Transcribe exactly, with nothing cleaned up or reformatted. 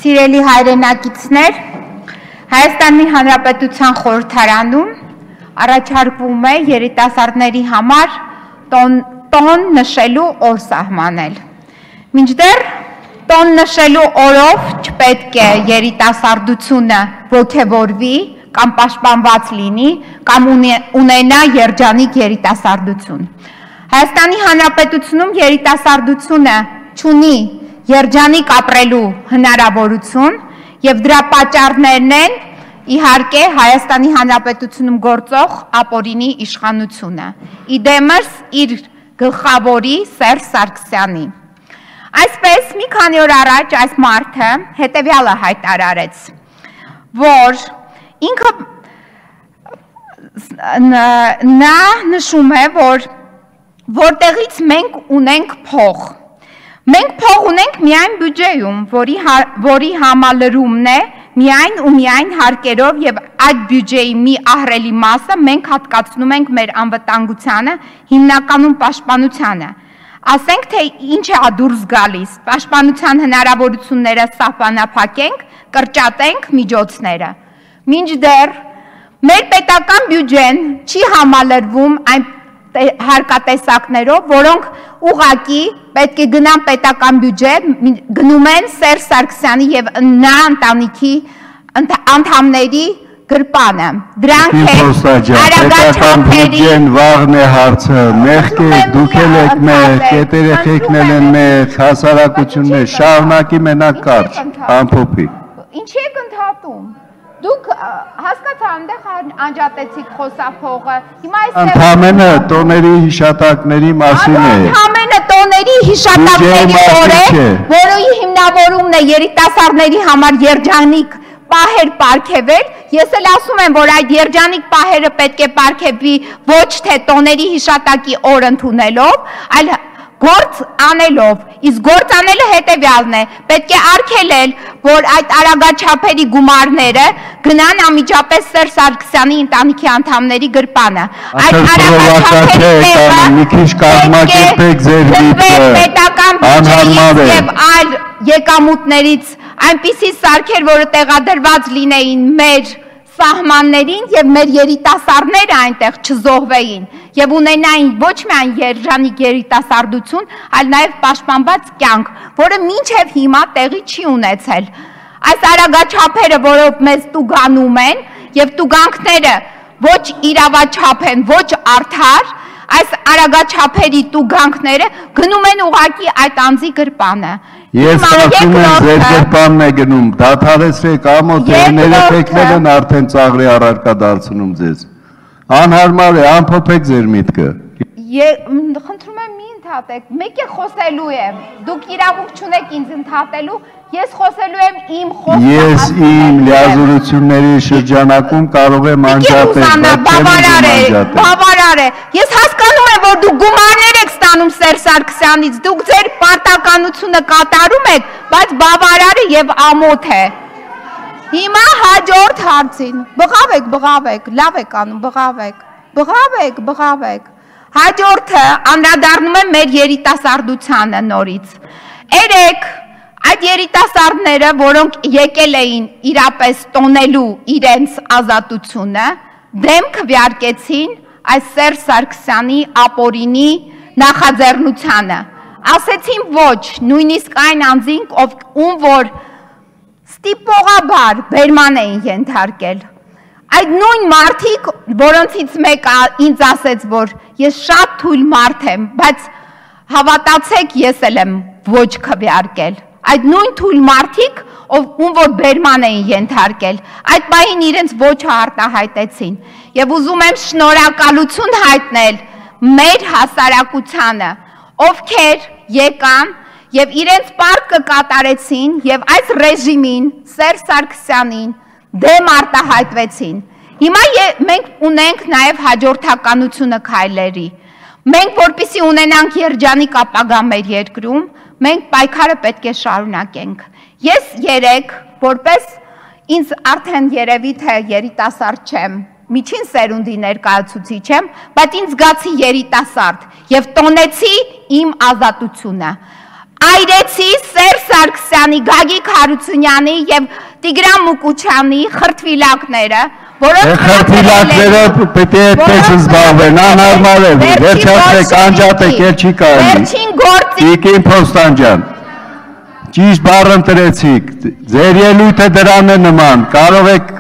Սիրելի հայրենակիցներ, Հայաստանի Հանրապետության խորհրդարանում առաջարկվում է երիտասարդների համար տոն նշելու օր սահմանել։ Մինչդեռ տոն նշելու օրով չպետք է երիտասարդությունը ոգևորվի կամ պաշտպանված լինի կամ ունենա երջանիկ երիտասարդություն։ Հայաստանի Հանրապետությունում երիտասարդությունը չունի երջանիկ ապրելու հնարավորություն եւ դրա պատճառներն են իհարկե Հայաստանի Հանրապետությունում գործող ապօրինի իշխանությունը, իդեմս իր գլխավորի Սերժ Սարգսյանի։ Այսպես մի քանի օր առաջ այս մարդը հետևյալը հայտարարեց, որ ինքը նա նշում է, որ որտեղից մենք ունենք փող։ Մենք փող ունենք միայն բյուջեում, որի, որի համալրումն է միայն ու միայն հարկերով եւ այդ բյուջեի մի ահռելի մասը մենք հատկացնում ենք մեր անվտանգությանը, հիմնականում պաշտպանությանը։ Ասենք թե ինչ է դուրս գալիս, պաշտպանության հնարավորությունները սահմանափակենք, կրճատենք միջոցները։ Մինչդեռ մեր պետական բյուջեն չի համալրվում այն հարկատեսակներով, որոնք ուղղակի պետք է գնան պետական բյուջե, գնում են Սերժ Սարգսյանի եւ նա ընտանիքի անդամների գրպանը։ Դրանք պետական բյուջեն վաղն է հարցը, մեղք է, դուք էլ եք մեղք, կետեր եղեկնել են մեղք, հասարակություններ, շարունակի մենակ կարճ, ամփոփի։ Ինչի եք ընդհատում։ Դուք հասկացա այնտեղ անջատեցիք խոսափողը։ Հիմա այս Ընդամենը տոների հիշատակների մասին է։ Ընդամենը տոների հիշատակների օր է, որի հիմնավորումն է երիտասարդների համար երջանիկ պահեր պարգևել։ Ես էլ ասում եմ, որ այդ երջանիկ պահերը պետք է պարգևվի ոչ թե տոների հիշատակի օր ընդունելով, այլ գործ անելով, իսկ գործ անելը հետևյալն է, պետք է արգելել, որ այդ արագաչափերի գումարները գնան անմիջապես Սերժ Սարգսյանի ընտանիքի անդամների գրպանը։ Այդ արագաչափերը մի քիչ կազմակերպեք ձեր պետական բյուջեից եւ այլ եկամուտներից այնպիսի սարքեր, որը տեղադրված լինեին մեր սահմաններին եւ մեր երիտասարդները այնտեղ չզոհվեին եւ ունենային ոչ միայն երջանիկ երիտասարդություն, այլ նաեւ պաշտպանված կյանք, որը մինչեւ հիմա տեղի չի ունեցել։ Այս արագաչափերը, որով մեզ տուգանում են եւ տուգանքները ոչ իրավաչափ են, ոչ արդար, այս արագաչափերի տուգանքները գնում են ուղակի այդ անձի գրպանը։ Ես ասում եմ, ձեր գրպանն է գնում, դադարեցրեք ամոթերները թեքնել են արդեն ծաղրի առարկա դարձնում ձեզ։ Անհարմար է, ամփոփեք ձեր միտքը։ Խնդրում եմ մի ընդհատեք, մեկ է խոսելու եմ, դուք իրավունք չունեք ինձ ընդհատելու, ես խոսելու եմ իմ խոսքը։ Ես իմ լիազորությունների շրջանակում կարող եմ անջատել, բավարար է, բավարար է։ Ես հասկանում եմ, որ դուք գումարներ եք ստանում Սերժ Սարգսյանից, դուք ձեր պարտականությունը կատարում եք, բայց բավարարը եւ ամոթ է։ Հիմա հաջորդ հարցին, բղավեք, բղավեք, լավ եք անում, բղավեք, բղավեք, բղավեք։ Հաջորդը անդրադառնում է մեր երիտասարդությանը նորից։ Երեք այդ երիտասարդները, որոնք եկել էին իրապես տոնելու իրենց ազատությունը, դեմ քվեարկեցին այս Սերժ Սարգսյանի ապօրինի նախաձեռնությանը։ Ասեցին ոչ, նույնիսկ այն անձին, ում որ ստիպողաբար բերման էին ենթարկել։ Այդ նույն մարդիկ, որոնցից մեկը ինձ ասեց, որ ես շատ թույլ մարդ եմ, բայց հավատացեք, ես էլ եմ ոչ քվեարկել։ Այդ նույն թույլ մարդիկ, ում որ բերման էին ենթարկել, այդ պահին իրենց ոչը արտահայտեցին։ Եվ ուզում եմ շնորհակալություն հայտնել մեր հասարակությանը, ովքեր եկան եւ իրենց պարտքը կատարեցին եւ այս ռեժիմին, Սերժ Սարգսյանին դեմ արտահայտվեցին։ Հիմա մենք ունենք նաեւ հաջորդականությունը քայլերի։ Մենք որպեսզի ունենանք երջանիկ ապագա մեր երկրում, մենք պայքարը պետք է շարունակենք։ Ես երեք, որպես ինձ արդեն երևի թե երիտասարդ չեմ, միջին սերունդի ներկայացուցիչ եմ, բայց ինձ զգացի երիտասարդ եւ տոնեցի իմ ազատությունը։ այրեցի Սերժ Սարգսյանի, Գագիկ Հարությունյանի եւ Տիգրան Մուկուչյանի խրտվիլակները, որոնք խրտվիլակները պետք է այդպես զբաղվեն, անհարմար է, վերջացրեք, անջատեք, էլ չի կարելի։ Վերջին գործի Տիկին Փոստան, ճիշտ բառ ընտրեցիք, ձեր ելույթը դրան է նման, կարող եք